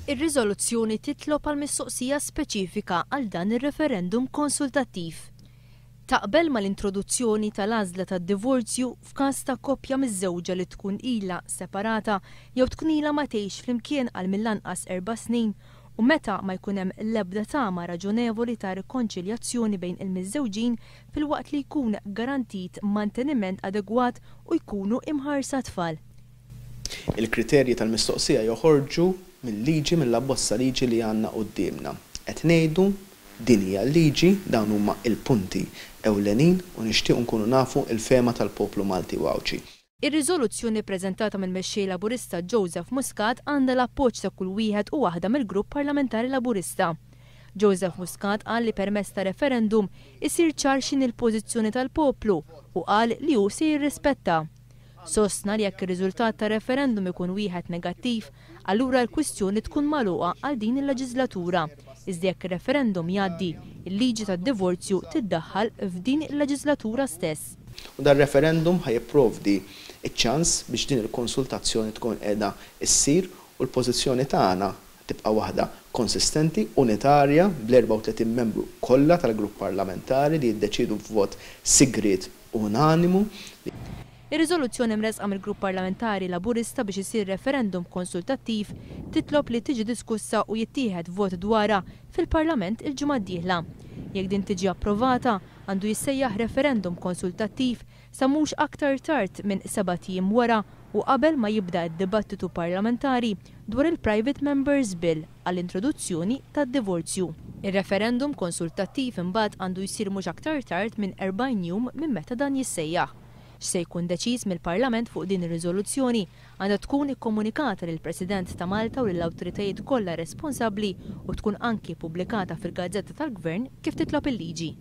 Ir-riżoluzzjoni titlob għal mistoqsija speċifika għal dan ir-referendum konsultattiv. Taqbel mal-introduzzjoni tal-għażla tad-divorzju f'każ ta' koppja miżżewġa li tkun ilha separata jew tkun ilha ma tgħix flimkien għal mill-anqas erba' snin u meta ma jkun hemm l-ebda tama raġonevoli ta' rikonċiljazzjoni bejn il-miżżewġin filwaqt li jkun garantit manteniment adegwat u jkunu imħarsa t-tfal. Il-kriterji tal-mistoqsija joħorġu mil-liġi, mill-abbozz ta' liġi li għandna quddiemna. Qed ngħidu, din hija l-liġi, dawn huma l-punti ewlenin u nixtiequ nkunu nafu l-fehma tal-poplu Malti u Għawdxi. Ir-riżoluzzjoni ppreżentata mill-Mexxej Laburista Joseph Muscat għandha l-appoġġ ta' kull wieħed u waħda mill-Grupp Parlamentari Laburista. Joseph Muscat qal li permezz ta' referendum isir ċar x'inhi l-pożizzjoni tal-poplu u qal li hu se jirrispettha. Sostna li jekk ir-riżultat tar-referendum ikun wieħed negattiv, allura l-kwistjoni tkun magħluqa għal din il-leġiżlatura, iżda jekk ir-referendum jgħaddi, il-liġi tad-divorzju tiddaħħal f'din il-leġiżlatura stess. U dar-referendum ħa jipprovdi ċ-ċans biex din il-konsultazzjoni tkun qiegħda ssir u l-pożizzjoni tagħna tibqa' waħda konsistenti, unitarja, bl-34 membru kollha tal-grupp parlamentari li jiddeċiedu b'vot sigriet unanimu. Ir-riżoluzzjoni mressqa mill-Grupp Parlamentari Laburista biex isir referendum konsultattiv titlob li tiġi diskussa u jittieħed vot dwarha fil-Parlament il-ġimgħa d-dieħla. Jekk din tiġi approvata, għandu jissejjaħ referendum konsultattiv sa mhux aktar tard minn sebat ijiem wara u qabel ma jibda d-dibattitu parlamentari dwar il-Private Members Bill għall-introduzzjoni tad-divorzju. Ir-referendum konsultattiv imbagħad għandu jsir mhux aktar tard minn 40 jum minn meta dan jissejjaħ. X'se jkun deċiż mill-Parlament fuq din ir-riżoluzzjoni għandha tkun ikkomunikata lill-President ta' Malta u lill-awtoritajiet kollha responsabbli u tkun anki ppubblikata fil-Gazzetta tal-Gvern kif titlob il-liġi.